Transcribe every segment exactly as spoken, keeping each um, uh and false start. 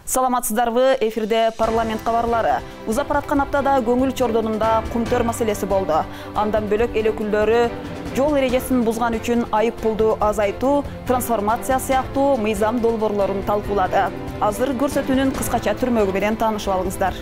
Саламатсыздарбы, эфирде парламент кабарлары. Узап бараткан аптада көңүл чордонунда кумтөр маселеси болду. Андан бөлөк эл өкүлдөрү жол эрежесин бузган үчүн айып пулду азайтуу, трансформация сыяктуу мыйзам долбоорлорун талкуулады. Азыр көрсөтүүнүн кыскача түрмөгү менен таанышып алыңыздар.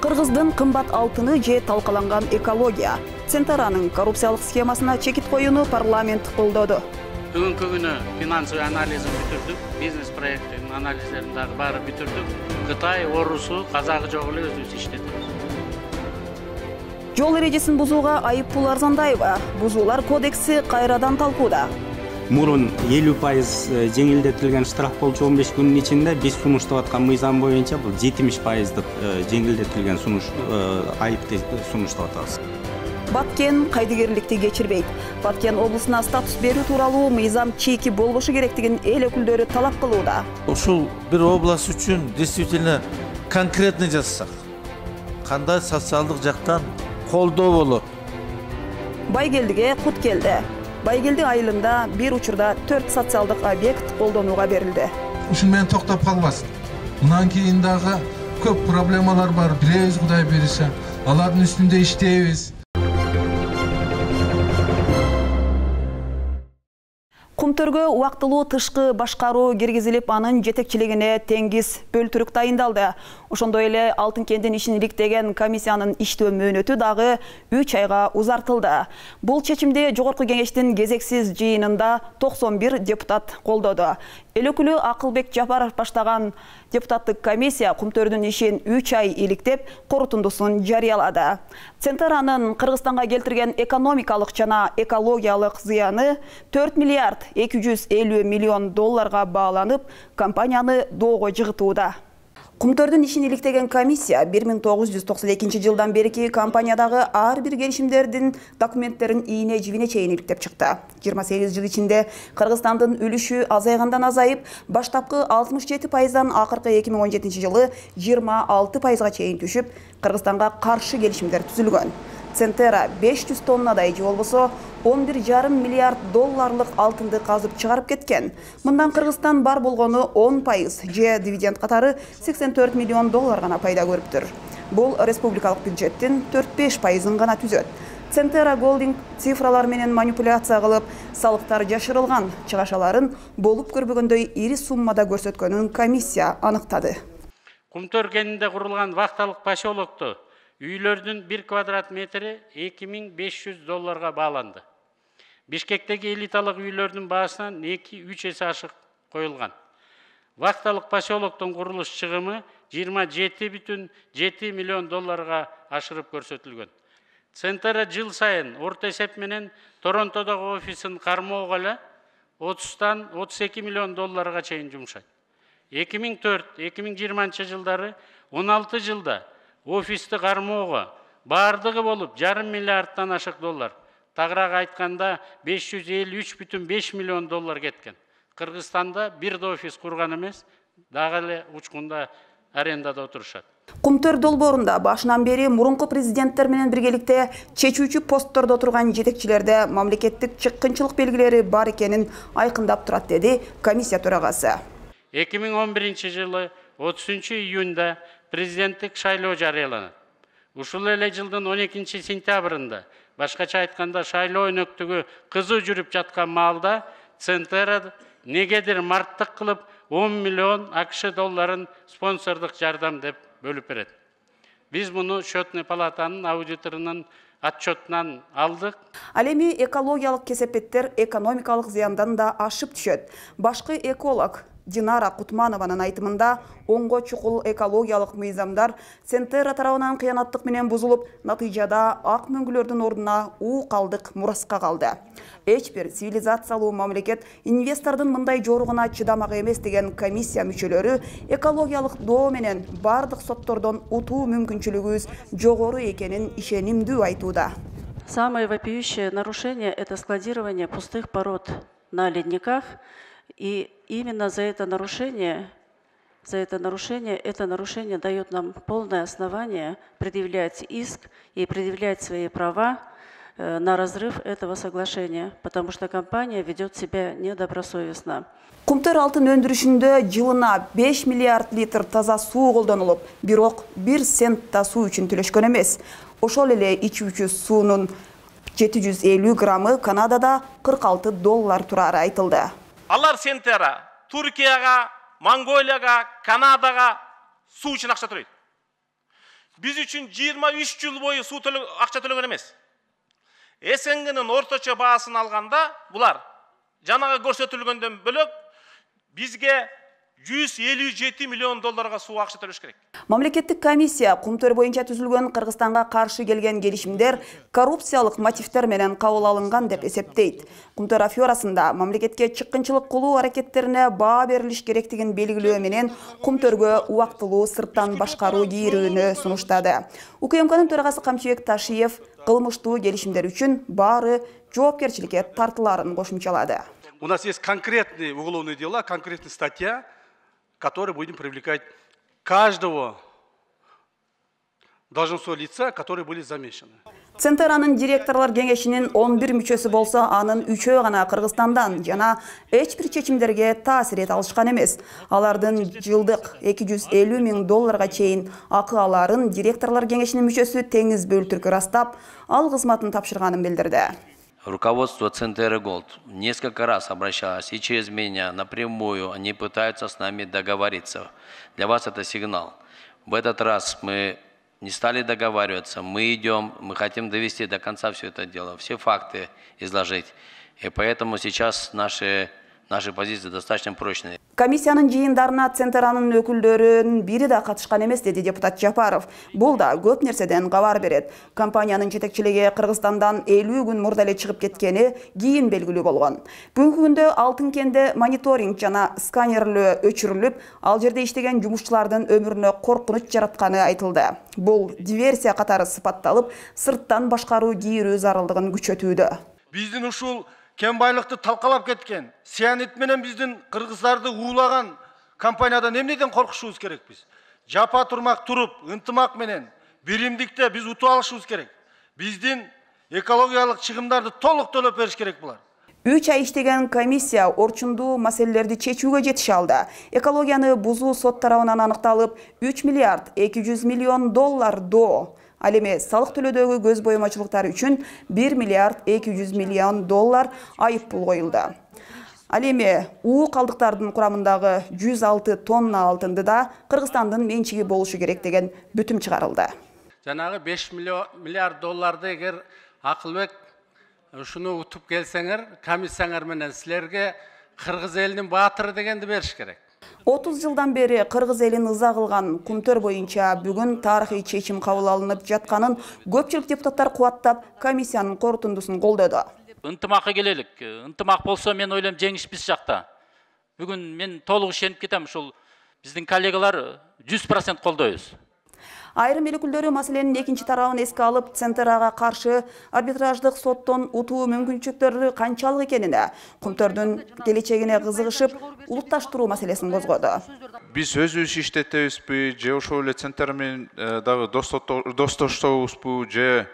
Кыргыздын кымбат алтыны же талкаланган экология. Центаранын коррупциялык схемасына чекит коюуну парламент колдоду. Бүгүнкү күнү финансовый анализин бүтүрдүк, бизнес проектинин анализдерин дагы баары бүтүрдүк. Кытай, орусу, казагы жок эле өзүбүз иштетебиз. Жол эрежесин бузууга айып пул арзандайбы? Бузуулар кодекси кайрадан талкууда. Мурун элүү пайыз жеңилдетилген штраф болчу он беш күнүн ичинде биз сунуштап аткан мыйзам боюнча бул жетимиш пайыздык жеңилдетилген сунуш айыпты сунуштап атабыз. Баткен кайдыгерликти кечирбейт. Баткен облусуна статус берүү тууралуу мыйзам чийки болбошу керектигин эл өкүлдөрү талап кылууда. Ушул бир область үчүн действительно конкретный жазсак, кандай социалдык жактан колдоо болот? Байгелдиге кут келди. Байгелди айылында бир учурда төрт социалдык объект колдонууга берилди. Ушун менен токтоп калбасын. Мындан кийин дагы көп проблемалар бар. Билебиз, Кудай берсе. Алардын үстүндө иштейбиз. Кумтөргө убактылуу тышкы башкаруу киргизилип, анын жетекчилигине Теңиз Бөлтүрүк дайындалды. Ошондой эле Алтын кендин ишин иликтеген комиссиянын иштөө мөөнөтү дагы үч айга узартылды. Бул чечимди Жогорку кеңештин кезексиз жыйынында токсон бир депутат колдоду. Эл өкүлү Акылбек Жапаров баштаган депутаттык комиссия кумтөрдүн ишин үч ай иликтеп, корутундусун жарыялады. Центаранын Кыргызстанга келтирген экономикалык жана экологиялык зыяны төрт миллиард эки жүз элүү миллион долларга бааланып, компанияны доого жыгытууда. Кумтөрдүн ишин иликтеген комиссия бир миң тогуз жүз токсон экинчи жылдан берки компаниядагы ар бир келишимдердин документтерин ийне жибине чейин иликтеп чыкты. жыйырма сегиз жыл ичинде Кыргызстандын үлүшү азайгандан азайып, баштапкы алтымыш жети пайыздан акыркы эки миң он жетинчи жылы жыйырма алты пайызга чейин түшүп, Кыргызстанга каршы келишимдер түзүлгөн. Центера беш жүз тоннадай же болбосо он бир жарым миллиард долларлык алтынды казып чыгарып кеткен. Мындан Кыргызстан бар болгону он пайыз же дивиденд катары сексен төрт миллион доллар гана пайда көрүптүр. Бул республикалык бюджеттин төрт беш пайызын гана түзөт. Центера Голдинг цифралар менен манипуляция кылып, салыктар жашырылган чыгашаларын болуп көрбөгөндөй ири суммада көрсөткөнүн комиссия аныктады. Кумтөр кенинде курулган вахталык поселокто үйлөрдүн бир квадрат метри эки миң беш жүз долларга бааланды. Бишкектеги элиталык үйлөрдүн баасынан эки үч эсе ашык коюлган. Вахталык поселоктун курулуш чыгымы жыйырма жети бүтүн жети миллион долларга ашырып көрсөтүлгөн. Центера жыл сайын орто эсеп менен Торонтодогу офисин кармоого эле отуздан отуз эки миллион долларга чейин жумшайт. эки миң төрт эки миң жыйырманчы жылдары он алты жылда офисти кармоого бардыгы болуп жарым миллиардтан ашык доллар. Тагыраак айтканда беш жүз элүү үч бүтүн беш миллион доллар кеткен. Кыргызстанда бир да офис курган эмес, дагы эле учкунда арендада отурушат. Кумтөр долбоорунда башынан бери мурунку президенттер менен биргеликте чечүүчү посттордо отурган жетекчилерде мамлекеттик чыккынчылык белгилери бар экенин айкындап турат, деди комиссия төрагасы. эки миң он биринчи жылы отузунчу июнда президенттик шайлоо жарыяланат. Ушул эле жылдын он экинчи сентябрында, башкача айтканда шайлоо өнөктүгү кызуу жүрүп жаткан маалда Центера негедир марттык кылып он миллион АКШ долларын спонсордук жардам деп бөлүп берет. Биз муну Счетный палатанын аудиторунун отчетунан алдык. Ал эми экологиялык кесепеттер экономикалык зыяндан да ашып түшөт. Башкы эколог Динара Кутманованын айтымында онго чукул экологиялык мыйзамдар Центера тарабынан кыянаттык менен бузулуп, натыйжада ак мөңгүлөрдүн ордуна уу калдык мураска калды. Эч бир цивилизациялуу мамлекет инвестордун мындай жоругуна чыдамак эмес деген комиссия мүчөлөрү экологиялык доо менен бардык соттордон утуу мүмкүнчүлүгүбүз жогору экенин ишенимдүү айтууда. Самое вопиющее нарушение – это складирование пустых пород на ледниках. И именно за это нарушение, за это нарушение, это нарушение дает нам полное основание предъявлять иск и предъявлять свои права на разрыв этого соглашения, потому что компания ведет себя недобросовестно. Кумтөр алтын өндүрүшүндө жылына беш миллиард литр таза суу колдонулуп, бирок бир цент да суу үчүн төлөшкөн эмес. Ошол эле ичүүчү суунун жети жүз элүү граммы Канадада кырк алты доллар турары айтылды. Алар Центера Туркияга, Монголияга, Канадага суу үчүн акча төлөйт. Биз үчүн жыйырма үч жыл бою суу акча төлөгөн эмес. СНГнын орточо баасын алганда булар жанага көрсөтүлгөндөн бөлөк бизге жүз элүү жети миллион долларга суу акча төлөш керек. Мамлекеттик комиссия Кумтөр боюнча түзүлгөн Кыргызстанга каршы келген келишимдер коррупциялык мотивдер менен кабыл алынган деп эсептейт. Кумтөр аферасында мамлекетке чыккынчылык кылуу аракеттерине баа берилиш керектигин белгилөө менен Кумтөргө убактылуу сырттан башкаруу кийирүүнү сунуштады. УКМКнын төрагасы Камчыбек Ташиев кылмыштуу келишимдер үчүн баары жоопкерчиликке тартыларын кошумчалады. У нас есть конкретные уголовные дела, конкретная статья, которой будем привлекать каждого должностного лица, которые были замешаны. Центеранын директорлор кеңешинин он бир мүчөсү болсо, анын үчөө гана Кыргызстандан жана эч бир чечимдерге таасир эте алышкан эмес. Алардын жылдык эки жүз элүү миң долларга чейин акы аларын директорлор кеңешинин мүчөсү Теңиз Бөлтүрк ырастап, ал кызматын тапшырганын билдирди. Руководство Центера Голд несколько раз обращалось и через меня напрямую. Они пытаются с нами договориться. Для вас это сигнал. В этот раз мы не стали договариваться. Мы идем, мы хотим довести до конца все это дело, все факты изложить. И поэтому сейчас наши, наши позиции достаточно прочные. Комиссиянын жыйындарына Центеранын өкүлдөрүнүн бири да катышкан эмес, деди депутат Жапаров. Бул да көп нерседен кабар берет. Компаниянын жетекчилиги Кыргызстандан элүү күн мурда эле чыгып кеткени кийин белгилүү болгон. Бүгүнкү күндө Алтын кенде мониторинг жана сканерлөө өчүрүлүп, ал жерде иштеген жумушчулардын өмүрүнө коркунуч жаратканы айтылды. Бул диверсия катары сыпатталып, сырттан башкаруу кийирүү зарылдыгын күчөтүүдө. Биздин ушул кен байлыкты талкалап кеткен, сианит менен биздин кыргыздарды уулаган компаниядан эмнеден коркушубуз керек биз? Жапа турмак туруп, ынтымак менен биримдикте биз утуп алышыбыз керек. Биздин экологиялык чыгымдарды толук төлөп бериш керек булар. үч ай иштеген комиссия орчундуу маселелерди чечүүгө жетише алды. Экологияны бузуу сот тарабынан аныкталып, үч миллиард эки жүз миллион доллар до. Ал эми салык төлөөдөгү көз боюмачылыктар үчүн бир миллиард эки жүз миллион доллар айып пул коюлду. Ал эми уу калдыктардын курамындагы жүз алты тонна алтынды да Кыргызстандын менчиги болушу керек деген бүтүм чыгарылды. Жанагы беш миллиард долларды эгер Акылбек ушуну утуп келсеңер, комиссияңар менен силерге Кыргыз элинин баатыры дегенди бериш керек. отуз жылдан бери Кыргыз элин ыза кылган Кумтөр боюнча бүгүн тарыхый чечим кабыл алынып жатканын көпчүлүк депутаттар кубаттап, комиссиянын корутундусун колдоду. Ынтымакка келелик. Ынтымак болсо мен ойлойм жеңиш биз жакта. Бүгүн мен толук ишенип кетем, ушул биздин коллегалар жүз процент колдойбуз. Айрым эл өкүлдөрү маселенин экинчи тарабын эске алып, Центерага каршы арбитраждык соттон утуу мүмкүнчүлүктөрү канчалык экенине, Кумтөрдүн келечегине кызыгышып, улутташтыруу маселесин козгоду. Биз өзүбүз иштетебизби, же ошол эле Центр менен дагы достоштобузбу, же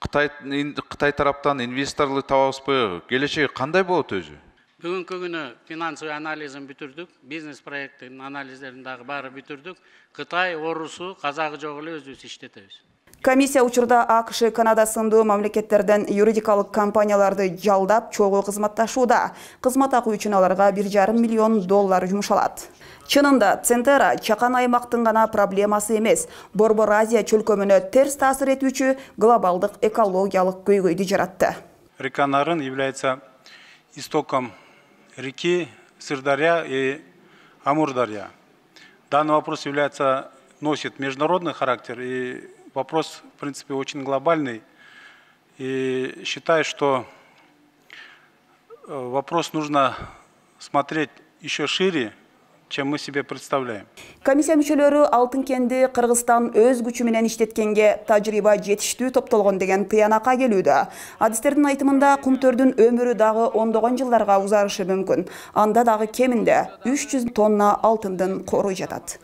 Кытай Кытай тараптан инвесторлор табабызбы? Келечеги кандай болот өзү? Бүгүнкү күнү финансовый анализин бүтүрдүк, бизнес проекттин анализдерин дагы баары бүтүрдүк. Кытай, орусу, казагы жок эле өзүбүз иштетебиз. Комиссия учурда АКШ, Канада сындуу мамлекеттерден юридикалык компанияларды жалдап, чогуу кызматташууда. Кызмат акы үчүн аларга бир жарым миллион доллар жумшалат. Чынында Центера чакан аймактын гана проблемасы эмес, Борбор Азия чөлкөмүнө терс таасир этүүчү глобалдык экологиялык көйгөйдү жаратты. Река Нарын является истоком реки Сырдарья и Амурдарья. Данный вопрос является, носит международный характер, и вопрос, в принципе, очень глобальный. И считаю, что вопрос нужно смотреть еще шире, чем мы себе представляем. Комиссия мүчөлөрү Алтын кенди Кыргызстан өз күчү менен иштеткенге тажрыйба жетиштүү топтолгон деген тыянакка келүүдө. Адистердин айтымында Кумтөрдүн өмүрү дагы ондогон жылдарга узарышы мүмкүн. Анда дагы кеминде үч жүз тонна алтындын корой жатат.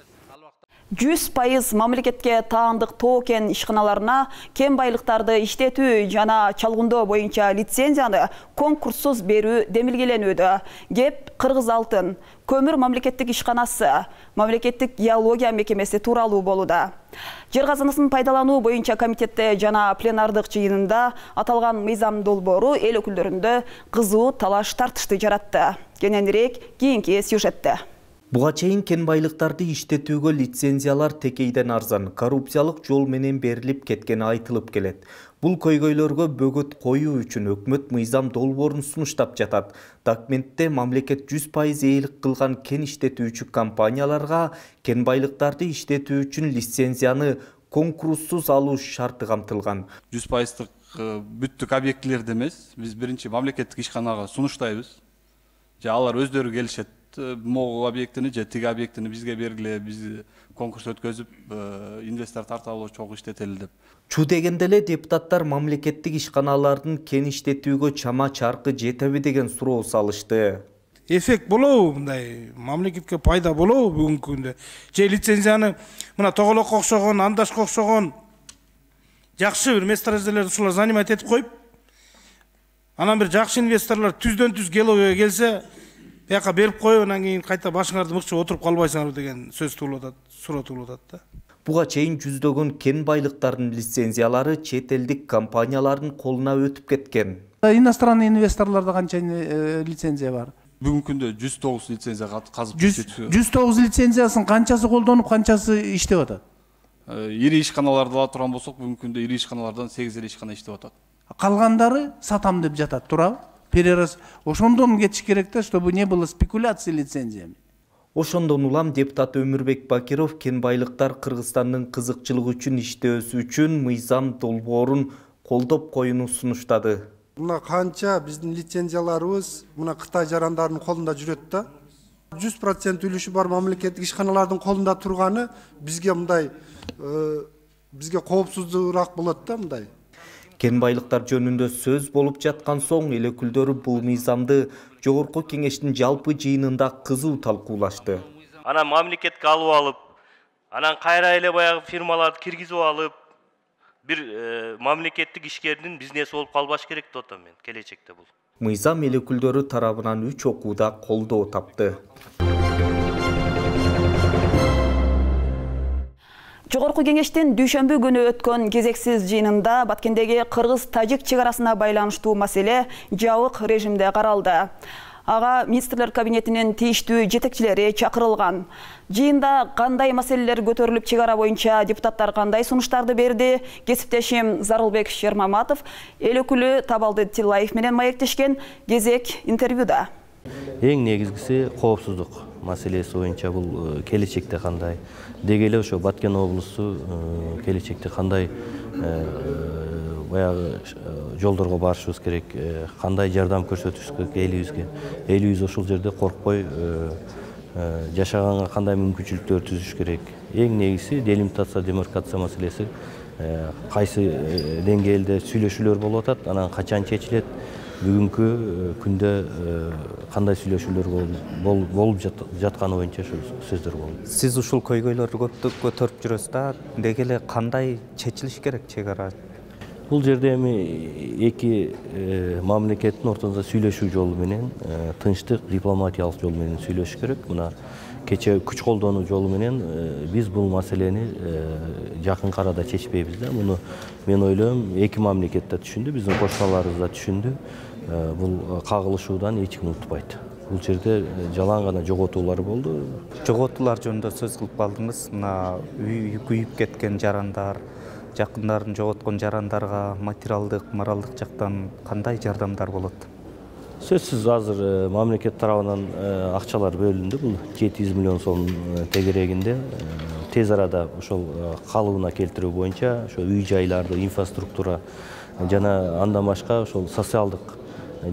жүз пайыз мамлекетке таандык тоо кен ишканаларына кен байлыктарды иштетүү жана чалгындоо боюнча лицензияны конкурссуз берүү демилгеленүүдө. Кеп Кыргыз алтын, көмүр мамлекеттик ишканасы, мамлекеттик геология мекемеси тууралуу болууда. Жер казынасын пайдалануу боюнча комитетте жана пленардык жыйынында аталган мыйзам долбоору эл өкүлдөрүндө кызуу талаш тартышты жаратты. Кененирээк кийинки сюжетте. Буга чейин кен байлыктарды иштетүүгө лицензиялар текейден арзан, коррупциялык жол менен берилип кеткени айтылып келет. Бул көйгөйлөргө бөгөт коюу үчүн өкмөт мыйзам долбоорун сунуштап жатат. Документте мамлекет жүз пайыз ээлик кылган кен иштетүүчү компанияларга кен байлыктарды иштетүү үчүн лицензияны конкурссуз алуу шарты камтылган. жүз пайыздык бүттүк объектилерди эмес, биз биринчи мамлекеттик ишканага сунуштайбыз. Же алар өздөрү келишет. Могу объектини же тиги объектини бизге бергиле, биз конкурс өткөзүп, инвестор тарталы чогуу иштетели деп. Чу дегенде эле депутаттар мамлекеттик ишканалардын кен иштетүүгө чама чаркы жетеби деген суроо салышты. Эффект болобу мындай, мамлекетке пайда болобу бүгүнкү күндө? Же лицензияны мына Тоголокко окшогон, Андашка окшогон жакшы бир месторожделерди ушулар занимать этип коюп, анан бир жакшы инвесторлор түздөн түз Геловге келсе, бияка берип коюп, анан кийин кайта башыңарды мыкчып отуруп калбайсыңарбы деген сөз туулуп атат, суроо туулуп атат да. Буга чейин жүздөгөн кен байлыктардын лицензиялары чет элдик компаниялардын колуна өтүп кеткен. Иностранный инвесторлордо канча лицензия бар? Бүгүнкү күндө жүз тогуз лицензия казып иштетүү. жүз тогуз лицензиясын канчасы колдонуп, канчасы иштеп атат? Ири ишканаларды ала турган болсок, бүгүнкү күндө ири ишканалардан сегиз эле ишкана иштеп атат. Калгандары сатам деп жатат, туурабы? Перераз. Ошондон кетиш керек да, чтобы не было спекуляций лицензиями. Ошондон улам депутат Өмүрбек Бакиров кен байлыктар Кыргызстандын кызыкчылыгы үчүн иштөөсү үчүн мыйзам долбоорун колдоп коюуну сунуштады. Мына канча биздин лицензияларыбыз мына Кытай жарандарынын колунда жүрөт да. жүз процент үлүшү бар мамлекеттик ишканалардын колунда турганы бизге мындай бизге коопсуздуураак болот да мындай. Кен байлыктар жөнүндө сөз болуп жаткан соң эл өкүлдөрү бул мыйзамды Жогорку Кеңештин жалпы жыйынында кызуу талкуулашты. Анан мамлекетке алып алып, анан кайра эле баягы фирмаларды киргизип алып, бир мамлекеттик ишкердин бизнеси болуп калбаш керек деп атам мен келечекте бул. Мыйзам эл өкүлдөрү тарабынан үч окууда колдоо тапты. Жогорку Кеңештин дүйшөмбү күнү өткөн кезексиз жыйынында Баткендеги Кыргыз-Тажик чегарасына байланыштуу маселе жабык режимде каралды. Ага министрлер кабинетинин тийиштүү жетекчилери чакырылган. Жыйында кандай маселелер көтөрүлүп, чегара боюнча депутаттар кандай сунуштарды берди? Кесиптешим Зарылбек Шермаматов эл өкүлү Табалды Тилаев менен маектешкен кезек интервьюда. Эң негизгиси коопсуздук маселеси боюнча бул келечекте кандай, деги эле ошо Баткен облусу келечекте кандай баягы жолдорго барышыбыз керек, кандай жардам көрсөтүшүбүз керек элибизге. Элибиз ошол жерде коркпой жашаганга кандай мүмкүнчүлүктөр түзүш керек. Эң негизги делимитация, демаркация маселеси кайсы деңгээлде сүйлөшүүлөр болуп атат, анан качан чечилет, бүгүнкү күндө кандай сүйлөшүүлөр болуп жатканы боюнча сөздөр болду. Сиз ушул көйгөйлөрдү көптүк көтөрүп жүрөсүз да, деги эле кандай чечилиш керек чегара? Бул жерде эми эки мамлекеттин ортосунда сүйлөшүү жолу менен, тынчтык, дипломатиялык жол менен сүйлөшүш керек. Мына кече күч колдонуу жолу менен биз бул маселени жакын арада чечпейбиз да. Муну мен ойлойм, эки мамлекет да түшүндү, биздин кошуналарыбыз да түшүндү. Бул кагылышуудан эч ким утпайт. Бул жерде жалаң гана жоготуулар болду. Жоготуулар жөнүндө сөз кылып калдыңыз. Мына үй күйүп кеткен жарандар, жакындарын жоготкон жарандарга материалдык, моралдык жактан кандай жардамдар болот? Сөзсүз азыр мамлекет тарабынан акчалар бөлүндү. Бул жети жүз миллион сом тегерегинде тез арада ошол калыбына келтирүү боюнча ошо үй жайларды, инфраструктура жана андан башка ошол социалдык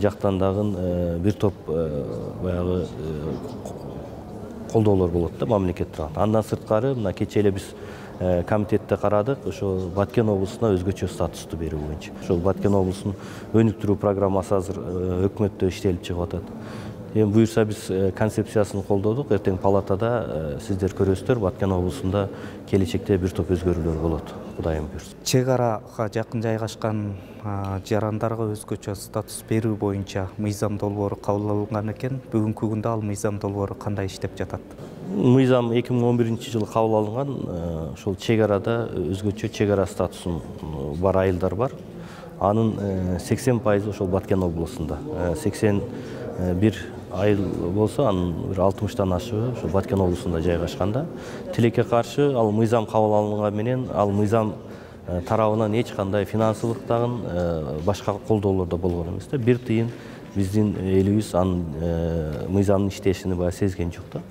жактан дагы бир топ баягы колдоолор болот да мамлекет тарабынан. Андан сырткары мына кече эле биз комитетте карадык, ошо Баткен облусуна өзгөчө статусту берүү боюнча. Ошол Баткен облусунун өнүктүрүү программасы азыр өкмөттө иштелип чыгып атат. Эми буюрса биз концепциясын колдодук. Эртең палатада сиздер көрөсүздөр, Баткен облусунда келечекте бир топ өзгөрүүлөр болот. Кудайым буйрса. Чек арага жакын жайгашкан жарандарга өзгөчө статус берүү боюнча мыйзам долбоору кабыл алынган экен. Бүгүнкү күндө ал мыйзам долбоору кандай иштеп жатат? Мыйзам эки миң он биринчи жылы кабыл алынган. Ошол чек арада өзгөчө чек ара статусун бар айылдар бар. Анын сексен пайызы ошол Баткен облусунда. сексен бир айыл болсо, анын бир алтымыштан ашыгы ошол Баткен облусунда жайгашканда. Тилекке каршы ал мыйзам кабыл алынган менен ал мыйзам тарабынан эч кандай финансылык дагы башка колдоолор да болгон эмес да. Бир тыйын биздин элибиз анын мыйзамдын иштешини баягы сезген жок да.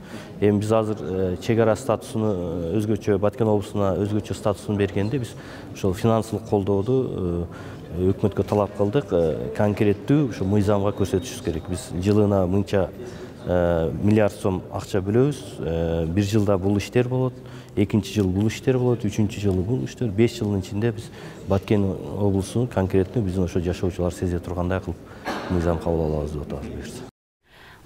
Эми биз азыр чек ара статусуну өзгөчө Баткен облусуна өзгөчө статусун бергенде биз ошол финансылык колдооду өкмөткө талап кылдык. Конкреттүү ошо мыйзамга көрсөтүшүбүз керек. Биз жылына мынча миллиард сом акча бөлөбүз. Бир жылда бул иштер болот, экинчи жыл бул иштер болот, үчүнчү жылы бул иштер. беш жылдын ичинде биз Баткен облусунун конкреттүү биздин ошо жашоочулар сезе тургандай кылып мыйзам кабыл алабыз деп атабыз буюрса.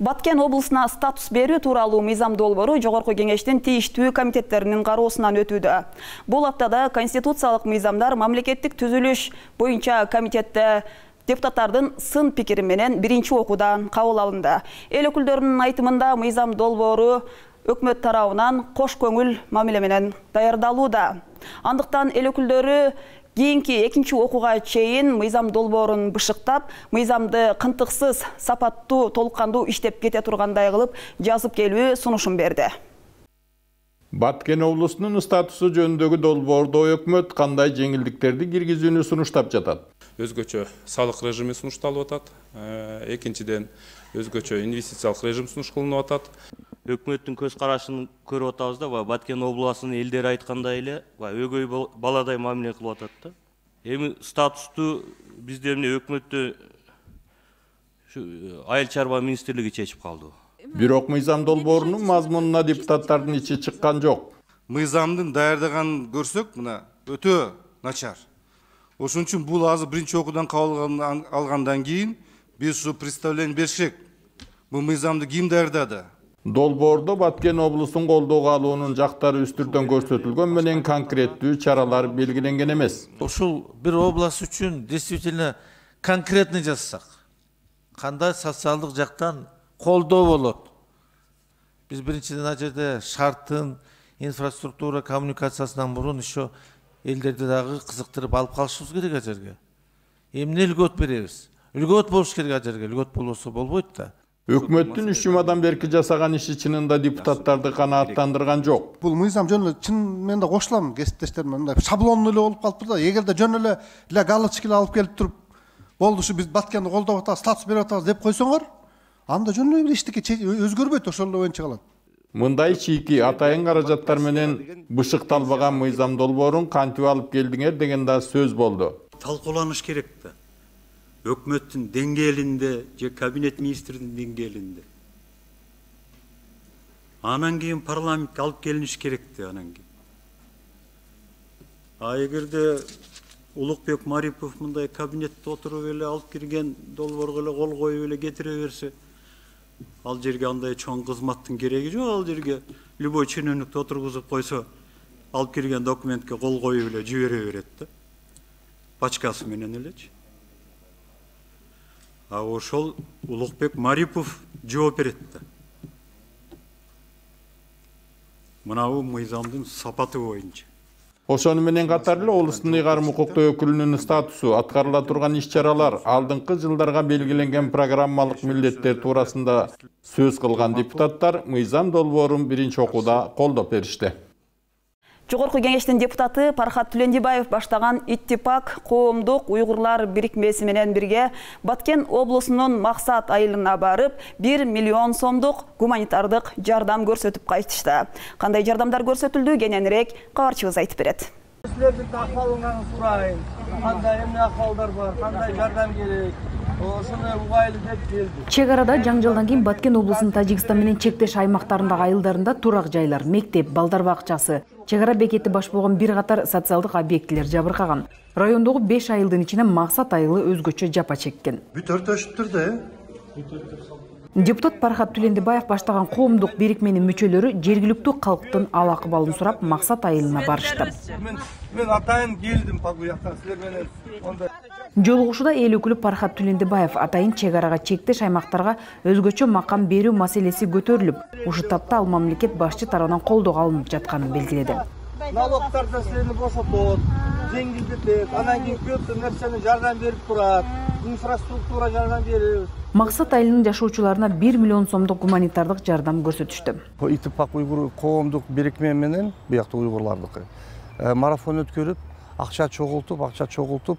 Баткен облусуна статус берүү тууралуу мыйзам долбоору Жогорку Кеңештин тийиштүү комитеттеринин кароосунан өтүүдө. Бул аптада конституциялык мыйзамдар мамлекеттик түзүлүш боюнча комитетте депутаттардын сын пикири менен биринчи окуудан кабыл алынды. Эл өкүлдөрүнүн айтымында мыйзам долбоору өкмөт тарабынан кош көңүл мамиле менен даярдалууда. Андыктан эл өкүлдөрү кийинки экинчи окууга чейин мыйзам долбоорун бышыктап, мыйзамды кынтыксыз, сапаттуу, толук кандуу иштеп кете тургандай кылып жазып келүү сунушун берди. Баткен облусунун статусу жөнүндөгү долбоордо өкмөт кандай жеңилдиктерди киргизүүнү сунуштап жатат? Өзгөчө салык режими сунушталып атат. Экинчиден өзгөчө инвестициялык режим сунуш кылынып атат. Өкмөттүн көз карашын көрүп атабыз да, Баткен облусунун элдери айткандай эле, өгөй баладай мамиле кылып атат да. Эми статусту бизде эмне өкмөттө айыл чарба министрлиги чечип калды. Бирок мыйзам долбоорунун мазмунуна депутаттардын ичи чыккан жок. Мыйзамдын даярдаганын көрсөк, мына өтө начар. Ошон үчүн бул азыр биринчи окуудан кабыл алгандан кийин биз ушу представление беришек. Бул мыйзамды ким даярдады? Долбоордо Баткен облусун колдоого алуунун жактары үстүртөн көрсөтүлгөн менен конкреттүү чаралар белгиленген эмес. Ушул бир область үчүн действительно конкретный жазсак, кандай социалдык жактан колдоо болот? Биз биринчиден ал жерде шарттын, инфраструктура, коммуникациясынан мурун еще элдерди дагы кызыктырып алып калышыбыз керек ал жерге. Эмне үлгөт беребиз? Үлгөт болуш керек ал жерге, үлгөт болбосо болбойт да. Өкмөттүн үч жумадан берки жасаган иши чынында депутаттарды канааттандырган жок. Бул мыйзам жөн эле чын мен да кошулам кесиптештериме, мындай шаблондуу эле болуп калыптыр да. Эгерде жөн эле эле галочка алып келип туруп, болду ушу биз Баткенди колдоп атабыз, статус берип атабыз деп койсоңор, анда жөн эле бир иштики өзгөрбөйт, ошол эле боюнча калат. Мындай чийки атайын каражаттар менен бышыкталбаган мыйзам долбоорун кантип алып келдиңер деген да сөз болду. Талкууланыш керек да. Өкмөттүн деңгээлинде же кабинет министринин деңгээлинде. Анан кийин парламентке алып келиниш керек да анан кийин. А эгерде Улукбек Марипов мындай кабинетте отуруп эле алып кирген долбоорго эле кол коюп эле кетире берсе, ал жерге андай чоң кызматтын кереги жок, ал жерге любой чиновникти отургузуп койсо, алып кирген документке кол коюп эле жибере берет да. Пачкасы менен элечи. А ошол Улукбек Марипов жооп берет да. Мынабу мыйзамдын сапаты боюнча. Ошону менен катар эле облустун ыйгарым укуктуу өкүлүнүн статусу, аткарыла турган иш-чаралар, алдыңкы жылдарга белгиленген программалык милдеттер туурасында сөз кылган депутаттар мыйзам долбоорун биринчи окууда колдоп беришти. Жогорку Кеңештин депутаты Пархат Түлендибаев баштаган Иттипак коомдук уйгурлар бирикмеси менен бирге Баткен облусунун Максат айылына барып, бир миллион сомдук гуманитардык жардам көрсөтүп кайтышты. Кандай жардамдар көрсөтүлдү, кененирээк кабарчыбыз айтып берет. Силердин акыбалыңарды сурайын. Кандай эмне акыбалдар бар, кандай жардам керек? Ошону угайлы деп келди. Чек арада жаңжалдан кийин Баткен облусунун Тажикстан менен чектеш аймактарындагы айылдарында турак жайлар, мектеп, балдар бакчасы, чек ара бекети баш болгон бир катар социалдык объектилер жабыркаган. Райондогу беш айылдын ичинен Максат айылы өзгөчө жапа чеккен. Бүт өртөшүптүр да, Депутат Пархат Түлендибаев баштаган коомдук бирикменин мүчөлөрү жергиликтүү калктын ал акыбалын сурап Максат айылына барышты. Мен атайын келдим па бу жактан силер менен. Жолугушууда эл өкүлү Пархат Түлендибаев атайын чек арага чектеш аймактарга өзгөчө макам берүү маселеси көтөрүлүп, ушул тапта ал мамлекет башчы тарабынан колдоого алынып жатканын белгиледи. Налогтардан силерни бошотот, жеңилдетет, анан кийин көп нерсени жардам берип турат, инфраструктура жардам берип. Максат айылынын жашоочуларына бир миллион сомдук гуманитардык жардам көрсөтүштү. Итипак уйгур коомдук бирикме менен буякта уйгурлардыкы марафон өткөрүп, акча чогултуп, акча чогултуп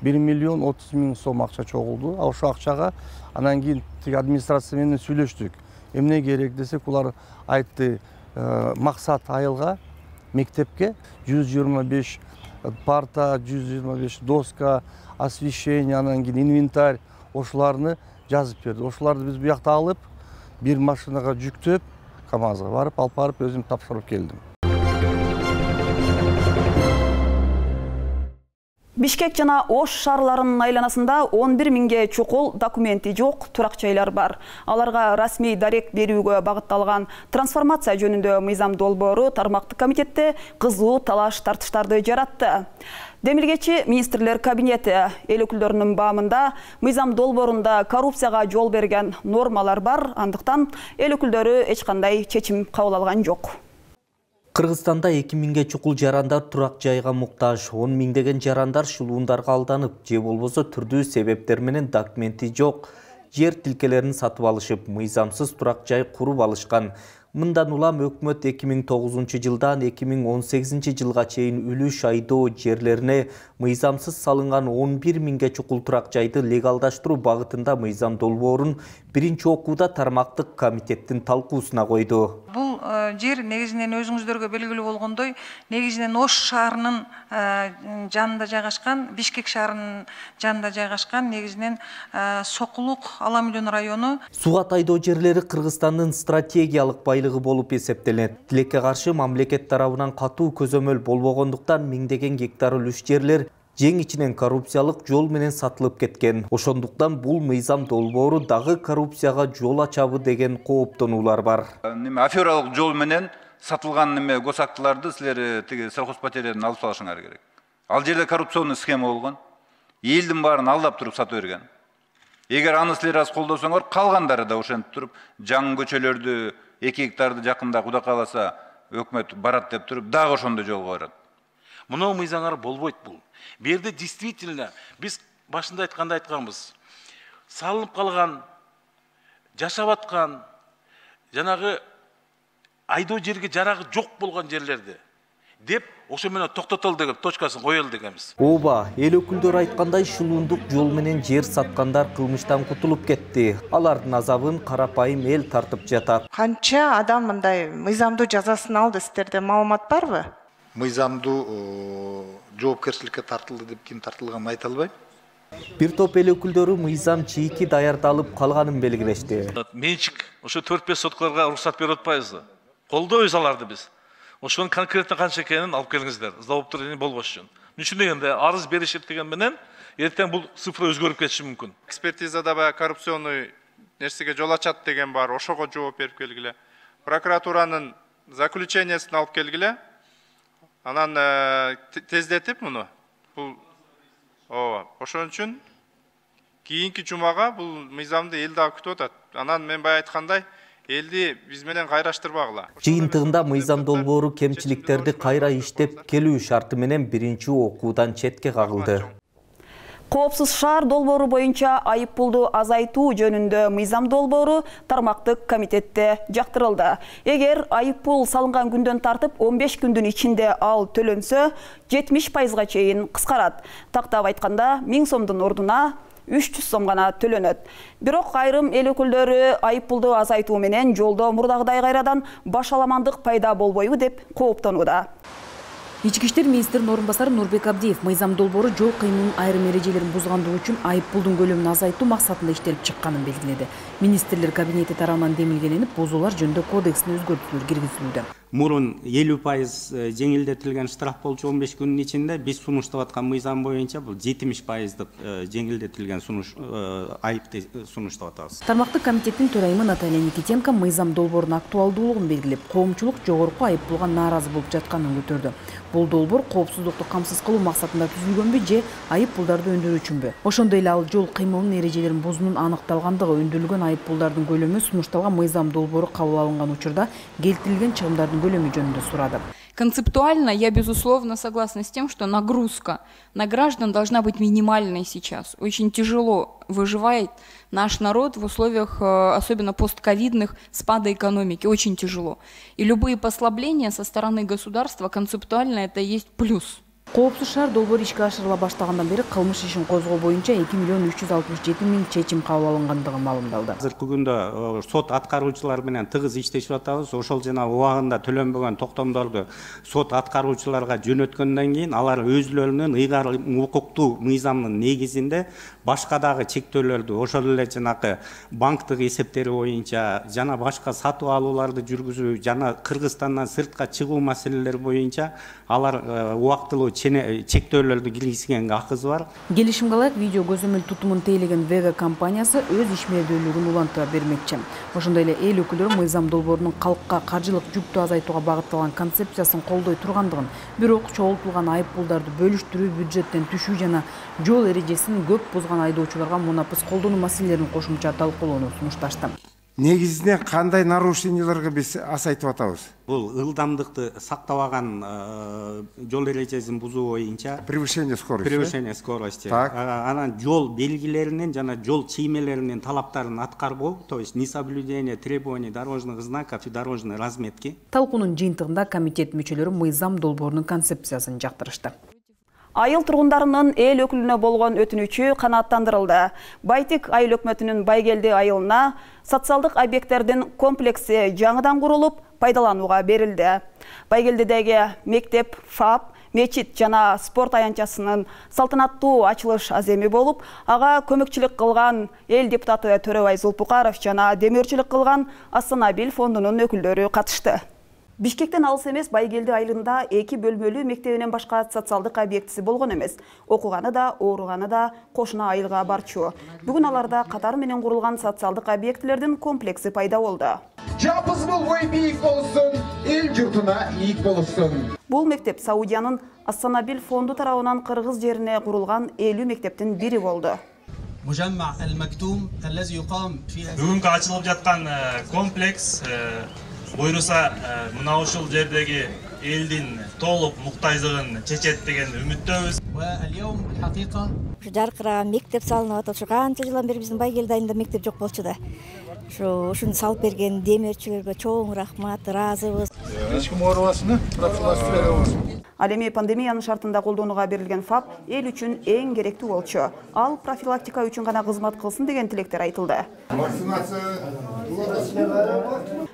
бир миллион отуз миң сом акча чогулду. Ошол акчага анан кийин тиги администрация менен сүйлөштүк. Эмне керек десек, улар айтты, Максат айылга мектепке жүз жыйырма беш парта, жүз жыйырма беш доска, освещение, анан кийин инвентарь ошоларны жазып берди. Ошоларды биз буякта алып, бир машинага жүктөп, КамАЗга барып, алып барып өзүм тапшырып келдим. Бишкек жана Ош шаарларынын айланасында он бир миңге чукул документи жок турак жайлар бар. Аларга расмий дарек берүүгө багытталган трансформация жөнүндө мыйзам долбоору тармактык комитетте кызуу талаш тартыштарды жаратты. Демилгечи министрлер кабинети эл өкүлдөрүнүн баамында мыйзам долбоорунда коррупцияга жол берген нормалар бар, андыктан эл өкүлдөрү эч кандай чечим кабыл алган жок. Кыргызстанда эки миңге чукул жарандар турак жайга муктаж, он миңдеген жарандар шылуундарга алданып, же болбосо түрдүү себептер менен документи жок жер тилкелерин сатып алышып, мыйзамсыз турак жай куруп алышкан. Мындан улам өкмөт эки миң тогузунчу жылдан эки миң он сегизинчи жылга чейин үлүш айдоо жерлерине мыйзамсыз салынган он бир миңге чукул турак жайды легалдаштыруу багытында мыйзам долбоорун биринчи окууда тармактык комитеттин талкуусуна койду. Бул жер негизинен өзүңүздөргө белгилүү болгондой, негизинен Ош шаарынын жанында жайгашкан, Бишкек шаарынын жанында жайгашкан, негизинен Сокулук Аламүлөн району. Сугат айдоо жерлери Кыргызстандын стратегиялык байлыгы болуп эсептелет. Тилекке каршы мамлекет тарабынан катуу көзөмөл болбогондуктан миңдеген гектар үлүш жерлер жең ичинен коррупциялык жол менен сатылып кеткен. Ошондуктан бул мыйзам долбоору дагы коррупцияга жол ачабы деген кооптонуулар бар. Неме афералык жол менен сатылган неме госактыларды силер тиги сельхозпотериядан алып салышыңар керек. Ал жерде коррупционный схема болгон. Элдин баарын алдап туруп сатып берген. Эгер аны силер аз колдосоңор, калгандары да ошентип туруп жаңы көчөлөрдү эки гектарды жакында Кудай кааласа өкмөт барат деп туруп дагы ошондой жолго барат. Мынау мыйзаңар болбойт бул. Берде действительно биз башында айтканда айтканбыз. Салынып калган, жашап аткан, жанагы айдоо жерге жарагы жок болгон жерлерди деп ошо менен токтотол деген точкасын коелу дегенбиз. Ооба, эл өкүлдөрү айткандай шылуундук жол менен жер саткандар кылмыштан кутулуп кетти. Алардын азабын карапайым эл тартып жатат. Канча адам мындай мыйзамдуу жазасын алды, сиздерде маалымат барбы? Мыйзамдуу жоопкерчиликке тартылды деп ким тартылганын айта албайм. Бир топ эл өкүлдөрү мыйзам чийки даярдалып калганын белгилешти. Менчик ошо төрт беш соткаларга уруксат берип атпайбызбы? Колдойбуз аларды биз. Ошонун конкретно канча экенин алып келиңиздер. Зауптар болбош үчүн. Үчүн дегенде арыз беришет деген менен эртең бул цифра өзгөрүп кетиши мүмкүн. Экспертизада баягы коррупционный нерсеге жол ачат деген бар, ошого жооп берип келгиле. Прокуратуранын заключениясын алып келгиле. Анан тездетип муну. Бул ооба, ошон үчүн кийинки жумага бул мыйзамды эл дагы күтүп атат. Анан мен бая айткандай, элди биз менен кайраштырбагыла. Жыйынтыгында мыйзам долбоору кемчиликтерди кайра иштеп келүү шарты менен биринчи окуудан четке кагылды. Коопсуз шаар долбоору боюнча айыппулду азайтуу жөнүндө мыйзам долбоору тармактык комитетте жактырылды. Эгер айыппул салынган күндөн тартып он беш күндүн ичинде ал төлөнсө, жетимиш пайызга чейин кыскарат. Тактап айтканда, миң сомдун ордуна үч жүз сом гана төлөнөт. Бирок айрым эл өкүлдөрү айыппулду азайтуу менен жолдо мурдагыдай кайрадан башаламандык пайда болбойбу деп кооптонууда. Ички иштер министринин орун басары Нурбек Абдиев мыйзам долбоору жол кыймылынын айрым эрежелерин бузгандыгы үчүн айыппулдун көлөмүн азайтуу максатында иштелип чыкканын белгиледи. Министрлер кабинети тарабынан демилгеленип, бузуулар жөнүндө кодекстин өзгөртүүлөр киргизилүүдө. мурун элүү пайыз жеңилдетилген штраф болчу он беш күнүн ичинде биз сунуштап аткан мыйзам боюнча бул жетимиш пайыздык жеңилдетилген сунуш айыпты сунуштап атабыз. Тармактык комитеттин төрайымы Наталья Никитенко мыйзам долбоорунун актуалдуулугун белгилеп, коомчулук жогорку айыппулга нааразы болуп жатканын көтөрдү. Бул долбоор коопсуздукту камсыз кылуу максатында түзүлгөнбү же айыппулдарды өндүрүү үчүнбү? Ошондой эле ал жол кыймылынын эрежелерин бузуунун аныкталгандыгы, өндүрүлгөн айыппулдардын көлөмү сунушталган мыйзам долбоору кабыл алынган учурда келтирилген чыгымдардын көлөмү жөнүндө сурады. Концептуально я, безусловно, согласна с тем, что нагрузка на граждан должна быть минимальной сейчас. Очень тяжело выживает наш народ в условиях, особенно постковидных, спада экономики. Очень тяжело. И любые послабления со стороны государства концептуально это и есть плюс. Коопсуз шаар долбоору ишке ашырыла баштагандан бери кылмыш ишин козгоо боюнча эки миллион үч жүз алтымыш жети миң чечим кабыл алынгандыгы маалымдалды. Азыркы күндө сот аткаруучулар менен тыгыз иштешип атабыз. Ошол жана убагында төлөнбөгөн токтомдорду сот аткаруучуларга жөнөткөндөн кийин алар өзлөрүнүн ыйгарым укуктуу мыйзамдын негизинде башка дагы чектөөлөрдү, ошол эле жанакы банктык эсептери боюнча жана башка сатып алууларды жүргүзүү жана Кыргызстандан сыртка чыгуу маселелери боюнча алар убактылуу чектөөлөрдү киргизгенге акысы бар. Келишимге ылайык видео көзөмөл тутумун тейлеген Vega компаниясы өз ишмердүүлүгүн улантыра бермекчи. Ошондой эле эл өкүлдөрү мыйзам долбоорунун калкка каржылык жүктү азайтууга багытталган концепциясын колдой тургандыгын, бирок чогултулган айыппулдарды бөлүштүрүү, бюджеттен түшүү жана жол эрежесин көп бузган айдоочуларга мунапыс колдонуу маселелерин кошумча талкуулоону сунушташты. Негизинен кандай нарушенияларга биз асайтып атабыз? Бул ылдамдыкты сактабаган жол эрежесин бузуу боюнча превышение скорости. Превышение скорости. Анан жол белгилеринин жана жол чиймелеринин талаптарын аткарбоо, то есть несоблюдение требований дорожных знаков и дорожной разметки. Талкуунун жыйынтыгында комитет мүчөлөрү мыйзам долбоорунун концепциясын жактырышты. Айыл тургундарынын эл өкүлүнө болгон өтүнүчү канааттандырылды. Байтик айыл өкмөтүнүн Байгелди айылына социалдык объекттердин комплекси жаңыдан курулуп, пайдаланууга берилди. Байгелдидеги мектеп, ФАП, мечит жана спорт аянтчасынын салтанаттуу ачылыш аземи болуп, ага көмөкчүлүк кылган эл депутаты Төрөбай Зулпукаров жана демөөрчүлүк кылган Астанабил фондунун өкүлдөрү катышты. Бишкектен алыс эмес Байгелди айылында эки бөлмөлүү мектебинен башка социалдык объектиси болгон эмес. Окуганы да, ооруганы да кошуна айылга барчу. Бүгүн аларда катар менен курулган социалдык объектилердин комплекси пайда болду. Жапызбыл ой бийик болсун, эл журтуна ийик болсун. Бул мектеп Саудиянын Астанабил фонду тарабынан Кыргыз жерине курулган элүү мектептин бири болду. Бүгүнкү ачылып жаткан комплекс буйруса мына ушул жердеги элдин толук муктаждыгын чечет деген үмүттөбүз. Жаркыраган мектеп салынып атат. Ушу канча жылдан бери биздин Байгелди айылында мектеп жок болчу да. Ушу ушуну салып берген демөөрчүлөргө чоң рахмат, ыраазыбыз. Эч ким оорубасын, профилактика беребиз. Ал эми пандемиянын шартында колдонууга берилген ФАП эл үчүн эң керектүү болчу. Ал профилактика үчүн гана кызмат кылсын деген тилектер айтылды.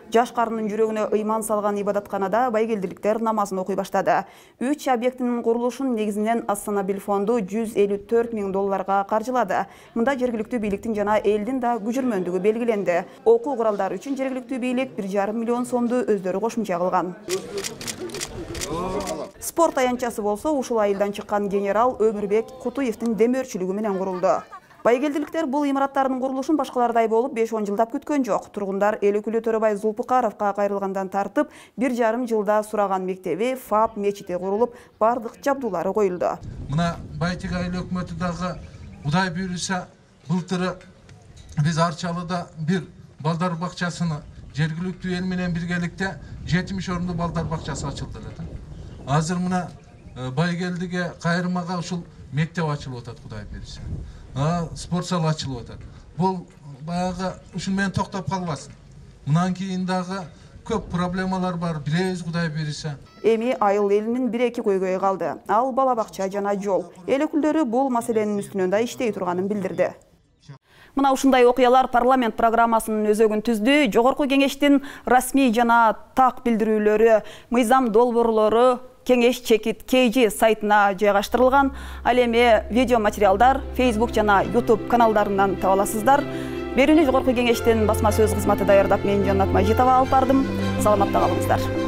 Жаш карынын жүрөгүнө ыйман салган ибадатканада байгелдиликтер намазын окуй баштады. Үч объектинин курулушун негизинен Астанабил фонду жүз элүү төрт миң долларга каржылады. Мында жергиликтүү бийликтин жана элдин да күжүрмөндүгү белгиленди. Окуу куралдары үчүн жергиликтүү бийлик бир жарым миллион сомду өздөрү кошумча кылган. Спорт аянтчасы болсо ушул айылдан чыккан генерал Өмүрбек Кутуевдин демөөрчүлүгү менен курулду. Байгелдиликтер бул имараттардын курулушун башкалардай болуп беш он жылдап күткөн жок. Тургундар эл өкүлү Төрөбай Зулпукаровго кайрылгандан тартып бир жарым жылда сураган мектеби, ФАП, мечити курулуп, бардык жабдуулары коюлду. Мына Байтик айыл өкмөтү дагы Кудай буйруса былтыры биз Арчалыда бир балдар бакчасыны жергиликтүү эл менен биргеликте жетимиш орунду балдар бакчасы ачылды эле. Азыр мына Байгелдиге кайрымага ушул мектеп ачылып атат, Кудай буйруса. Спорт зал ачылып атат. Бул баягы ушун менен токтоп калбасын. Мындан кийин дагы көп проблемалар бар, билебиз, Кудай буйруса. Эми айыл элинин бир эки көйгөйү калды. Ал бала бакча жана жол. Эл өкүлдөрү бул маселенин үстүнөн да иштей турганын билдирди. Мына ушундай окуялар парламент программасынын өзөгүн түздү. Жогорку кеңештин расмий жана так билдирүүлөрү, мыйзам долбоорлору Кеңеш чекит кей жи сайтына жайгаштырылган. Ал эми видео материалдар Facebook жана YouTube каналдарынан таба аласыздар. Берүүнү Жогорку кеңештин басма сөз кызматы даярдап, мен Жаннат Мажитова алып бардым. Саламатта калыңыздар.